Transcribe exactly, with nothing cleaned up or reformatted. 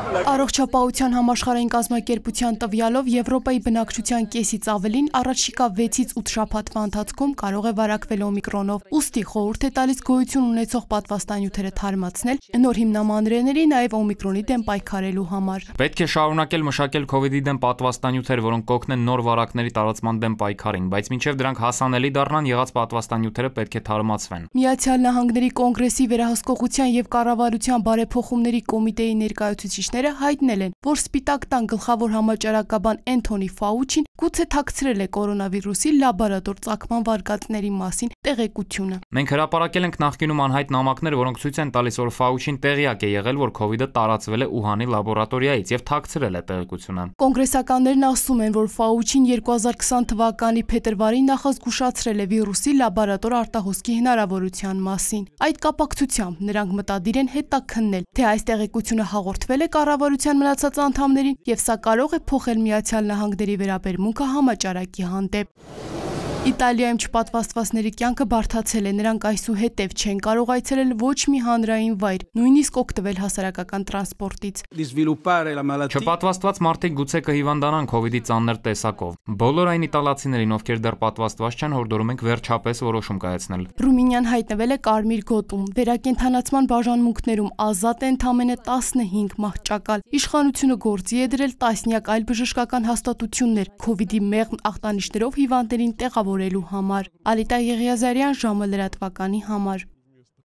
Առողջապահության համաշխարհային կազմակերպության տվյալով Եվրոպայի բնակչության կեսից ավելին առաջիկա վեցից ութ շաբաթվա ընթացքում կարող է վարակվել օմիկրոնով։ Ուստի խորհուրդ է տալիս գոյություն ունեցող պատվաստանյութերը թարմացնել, նոր հիմնամանրէների, նաև օմիկրոնի դեմ պայքարելու համար։ Պետք է շարունակել մշակել քովիդի դեմ պատվաստանյութեր, որոնք կօգնեն նոր վարակների տարածման դեմ պայքարին, բայց մինչև դրանք հասանելի դառնան, եղած պատվաստանյութերը պետք է թարմացվեն։ Միացյալ Նահանգների կոնգրեսի վերահսկողության եւ կառավարության բարեփոխումների կոմիտեի ներկայացուցիչները հայտնել են, որ Սպիտակ տան գլխավոր համաճարակաբան Էնթոնի Ֆաուչին գուցե թաքցրել է կորոնավիրուսի լաբորատոր ծագման վարկածների մասին տեղեկությունը։ Մենք հրապարակել ենք նախկինում անհայտ նամակներ, որոնք ցույց են տալիս, որ Ֆաուչին տեղյակ է եղել, որ քովիդը տարածվել է Ուհանի լաբորատորիայից եւ թաքցրել է տեղեկությունը։ Կոնգրեսականներն ասում են, որ Ֆաուչին երկու հազար քսան թվականի փետրվարին նախազգուշացրել է վիրուսի լաբորատոր արտահոսքի հնարավորության մասին։ Այդ կապակցությամբ նրանք մտադիր են հետաքննել, թե այս տեղեկությունը հաղորդվել է կառավարության մնացած անդամներին եւ սա կարող է փոխել Միացյալ Նահանգների վերաբերմունքը համաճարակի հանդեպ։ Իտալիայում չպատվաստվածների կյանքը բարդացել է, նրանք այսուհետև չեն կարող այցելել ոչ մի հանրային վայր, նույնիսկ օգտվել հասարակական տրանսպորտից։ Չպատվաստված մարդիկ գուցե կհիվանդանան քովիդի ծանր տեսակով։ Բոլոր այն իտալացիներին, ովքեր դեռ պատվաստված չեն, հորդորում ենք վերջապես որոշում կայացնել։ Ռումինիան հայտնվել է կարմիր գոտում, վերակենդանացման բաժանմունքներում ազատ է ընդամենը տասնհինգ մահճակալ։ Իշխանությունը գործի է դրել տասնյակ այլ բժշկական հաստատություններ քովիդի մեղմ ախտանիշներով հիվանդներին տեղավորելու համար։ Ալիտա Եղիազարյան, ժամը լրատվականի համար։